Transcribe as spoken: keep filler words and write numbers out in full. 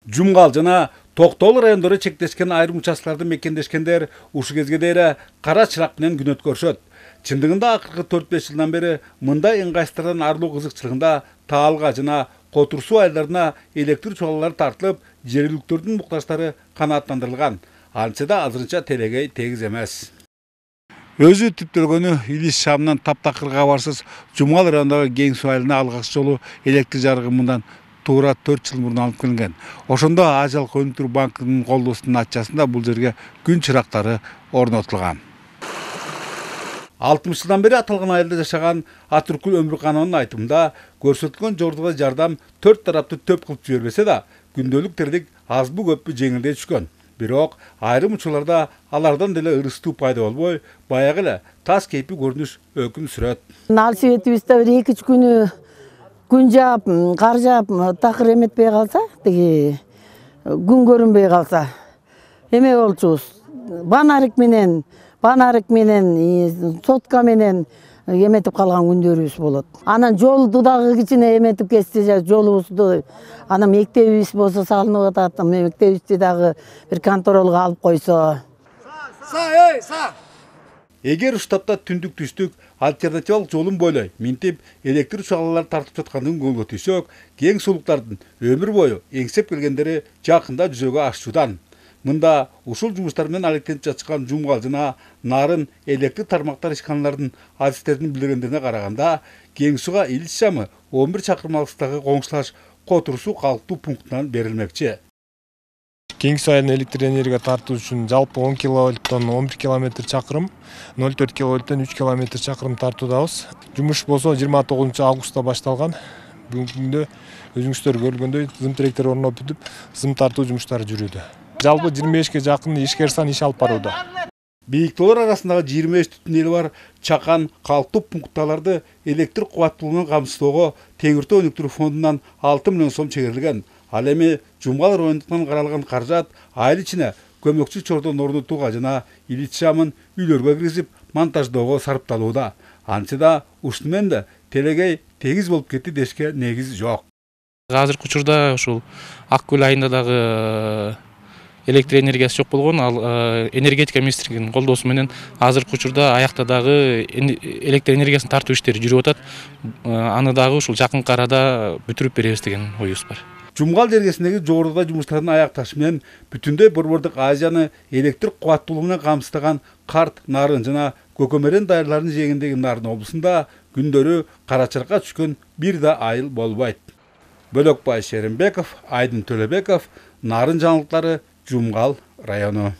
Жумгал жана Токтогул райондору чектешкен айрым участкаларды мекендешкендер ушул кезге дейин кара чырак менен күн өткөрүшөт. Чындыгында акыркы төрт беш жылдан бери мындай ыңгайсыздардан арылуу кызыкчылыгында Таалга жана Котурсуу айылдарына электр чугалалары тартылып, жергиликтөрдүн муктаждары канааттандырылган. Антсе да азырынча телегей тегиз эмес. Өзү түптөлгөнү Илис шамынан таптакыр кабарсыз Жумгал районундагы Кең суу айылына алгачкы жолу электр жарыгы мындан туура төрт жыл мурун алып келинген. Ошондо Ажал Өнүктүрүү банкынын колдоосунун атчасында бул жерге күн чырактары орнотулган. алтымыш жылдан бери аталган айылда жашаган Атүркүл Өмүркановдун айтымында көрсөтүлгөн жордуга жардам төрт тарапты төп кылып жибербесе да, күндөлүк тирилик азбы көппү жеңилдей түшкөн. Бирок айрым учурларда алардан деле ырыстуу пайда болбой, баягы эле тас кейпи көрүнүш өкүм сүрөт. Ал себетибизде бир эки үч күнү күн жаап, кар жаап, такыр эметпей калса, тиги күн көрүнбөй калса, эме болчубуз. Банарик менен, банарик менен, сотка менен эметип калган күндөрүбүз болот. Анан жолду дагы кичине эметип кетсе, жолубузду анан мектебибиз болсо салынып атат, мектебибизди дагы бир контролго алып койсо. Са, эй, са! Эгер уштапта түндүк түштүк альтернативалык жолун бойлой минтип электр чугалалары тартып жаткандыгын көңгө тийсек, кең суулуктардын өмүр бою эңсеп келгендери жакында жүзөгө ашуudan. Мында ушул жумуштар менен алектенип жатышкан Жумгал жана Нарын электр тармактар ишканаларынын адистеринин билдиргендерине караганда, Кең сууга Илис шамы он бир чакырым алыстыктагы коңшулаш Котурсуу калктуу пунктунан берилмекчи. Кең суу айылына электр энергия тартуу үчүн жалпы он киловольттон он бир километр чакырым, ноль төрт киловольттон үч километр чакырым тартуудабыз. Жумуш болсо жыйырма тогузунчу августта башталган. Бүгүнкү күндө өзүңүздөр көргөндөй зым тиректер орноп бүтүп, зым тартуу жумуштары жүрүүдө. Жалпы жыйырма бешке жакын ишкер сан иш алып барууда. Бийиктөөлөр арасындагы жыйырма беш түтүн эли бар чакан калктуу пунктталарды электр кубаттуулугун камсыздоого Теңиртөө өнүктүрүү фондунан алты миллион сом чегерилген. Ал эми Жумгал районунан каралган каражат айыл ичине көмөкчү чордон орнотууга жана Илис шамын үйлөргө киргизип монтаждоого сарпталууда. Антсе да ушуну менен да телегей тегиз болуп кетти дешке негиз жок. Азыркы учурда ушул Ак Көл айында дагы электр энергиясы жок болгон, ал энергетика министрлигинин колдоосу менен азыркы учурда аякта дагы электр энергиясын тартуу иштери жүрүп атат. Аны дагы ушул жакынкы арада бүтүрүп беребиз деген оюбуз бар. Жумгал жергесиндеги жогоруда жумуштардын аякташы менен бүтүндөй Борбордук Азияны электр кубаттуулугу менен камсыздаган Карт, Нарын жана Көкөмөрен дайырларынын жээгиндеги Нарын облусунда күндөрү кара чыракка түшкөн бир да айыл болбойт. Бөлөкбай Шеримбеков, Айдын Төлөбеков, Нарын жаңылыктары, Жумгал району.